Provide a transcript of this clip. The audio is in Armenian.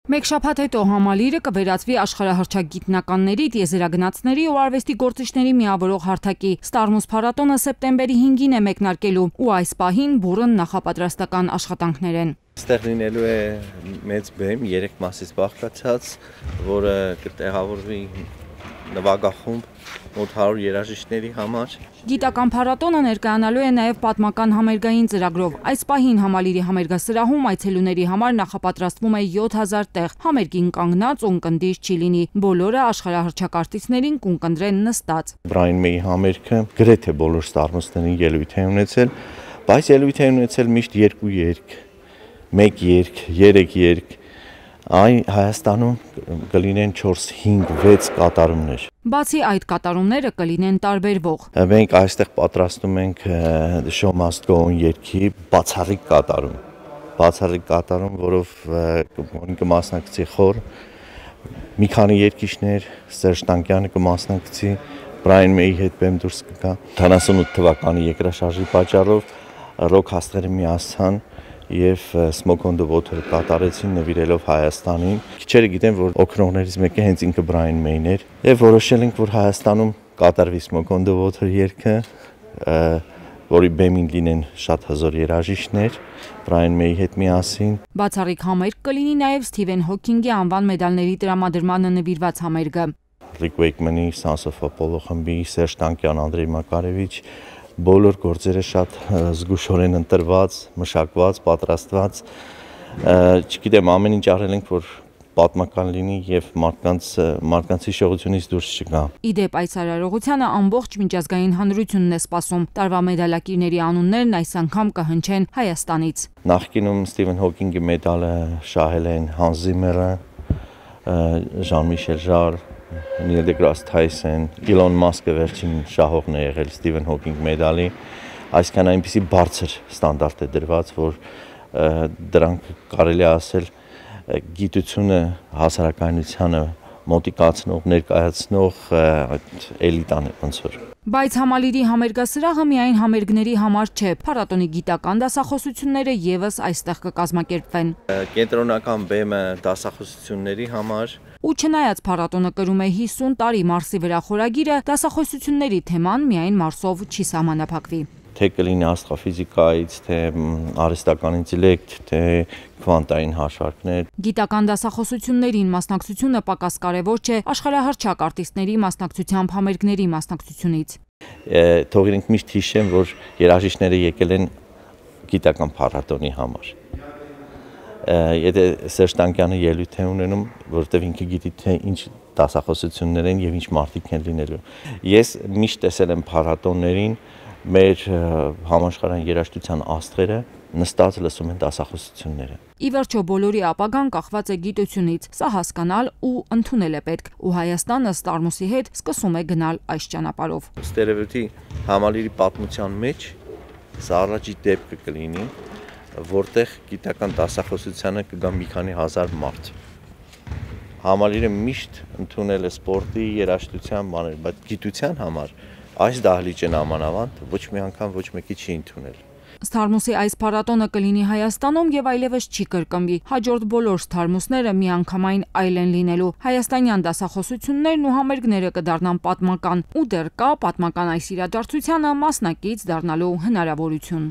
Մեկ շաբաթ հետո համալիրը կվերածվի աշխարհահռչակ տիեզերագնացների ու արվեստի գործիչների միավորող հարթակի։ Ստարմուս փառատոնը սեպտեմբերի 5-ին է մեկնարկելու ու այս պահին բուռն նախապատրաստական աշխատանքներ են։ Ստեղ լինելու է մեծ բեմ 3 մասից բաղկացած, որը կտեղավորվի նվագախումբ մոտ 100 երաժիշտների համար։ Գիտական փառատոնը ներկայանալու է նաև պատմական համերգային ծրագրով։ Այս պահին համալիրի համերգասրահում այցելուների համար նախապատրաստվում է 7000 տեղ։ Համերգին կանգնած ունկնդիր չի լինի։ Բոլորը աշխարհահռչակ արտիստներին կունկնդրեն նստած։ Brian May համերգը գրեթե բոլոր ստարմուսներին ելույթ է ունեցել, բայց ելույթ է ունեցել միշտ 2 երգ, 1 երգ, 3 երգ։ Հայաստանում կլինեն 4, 5, 6 կատարումներ։ Բացի այդ կատարումները կլինեն տարբերվող։ Մենք այստեղ պատրաստում ենք Show Must Go On երգի բացառիկ կատարում, որով կմասնակցի խոր, մի քանի երգիչներ, Սերժ Տանկյանը կմասնակցի, Brian May-ի հետ բեմ դուրս կգա։ 78 թվականի երկրաշարժի պատճառով ռոք աստղերը միացան եւ Smoke on the Water կատարեցին նվիրելով Հայաստանին։ Քիչերը գիտեն, որ օգնողներից մեկը հենց ինքը Brian May-ն էր եւ որոշել ենք, որ Հայաստանում կատարվի Smoke on the Water երգը, որի բեմին լինեն շատ հզոր երաժիշտներ Brian May-ի հետ միասին։ Բացառիկ համերգ կլինի նաև Սթիվեն Հոքինգի անվան մեդալների տրամադրմանը նվիրված համերգը։ Rick Wakeman-ի Sons of Apollo խմբի Սերժ Տանկյան, Անդրեյ Մակարևիչ բոլոր գործերը շատ զգուշորեն ընտրված, մշակված, պատրաստված։ Չգիտեմ, ամեն ինչ արել ենք, որ պատմական լինի եւ մարդկանց հիշողությունից դուրս չգա։ Իդեպ այս արարողությանը ամբողջ միջազգային հանրությունն է սպասում։ Տարվա մեդալակիրների անուններն այս անգամ կհնչեն Հայաստանից։ Նախկինում Սթիվեն Հոքինգի մեդալը շահել են Հանս Զիմերը, Ժան-Միշել Ժար, Նիլ դեգրաս Թայսեն, Իլոն Մասկը վերջին շահողն է եղել Սթիվեն Հոքինգ մեդալի, այսքան այնպիսի բարձր ստանդարտ է դրված, որ դրանք կարելի է ասել գիտությունը հասարակայնությանը մոտիկացնող, ներկայացնող էլիտան է ոնց որ։ Բայց համալիրի համերգասրահը միայն համերգների համար չէ, փառատոնի գիտական դասախոսությունները եւս այստեղ կկազմակերպվեն։ Կենտրոնական բեմը դասախոսությունների համար Ու չնայած փառատոնը կրում է 50 տարի Մարսի վրա խորագիրը, դասախոսությունների թեման միայն Մարսով չի սահմանափակվի։ Թե կլինի աստղաֆիզիկայից, թե արհեստական ինտելեկտ, թե քվանտային հաշվարկներ։ Գիտական դասախոսություններին մասնակցությունը պակաս կարևոր չէ աշխարհահռչակ արտիստների մասնակցությամբ համերգների մասնակցությունից։ Թող իրենք միշտ հիշեն, որ երաժիշտները եկել են գիտական փառատոնի համար։ Եթե Սերժ Տանկյանը ելույթ է ունենում, որովհետև ինքը գիտի թե ինչ դասախոսություններ են եւ ինչ մարդիկ են լինելու։ Ես միշտ տեսել եմ փառատոններին մեր համաշխարհային երաժշտության աստղերը նստած լսում են դասախոսությունները։ Ի վերջո բոլորի ապագան կախված է գիտությունից, սա հասկանալ ու ընդունել է պետք, ու Հայաստանը Ստարմուսի հետ սկսում է գնալ այս ճանապարհով։ Ստերևույթի համալիրի պատմության մեջ սա առաջի դեպքը կլինի, որտեղ գիտական դասախոսությանը կգա մի քանի հազար մարդ։ Համալիրը միշտ ընդունել է սպորտի, երաժշտության բաներ, բայց գիտության համար այս դահլիճն ամանավանդ ոչ մի անգամ ոչ մեկի չի ընդունել։ Ստարմուսի այս փառատոնը կլինի Հայաստանում եւ այլևս չի կրկնվի։ Հաջորդ բոլոր ստարմուսները միանգամայն այլ են լինելու։ Հայաստանյան դասախոսություններն ու համերգները կդառնան պատմական, ու դեռ կա պատմական այս իրադարձությանը մասնակից դառնալու հնարավորություն։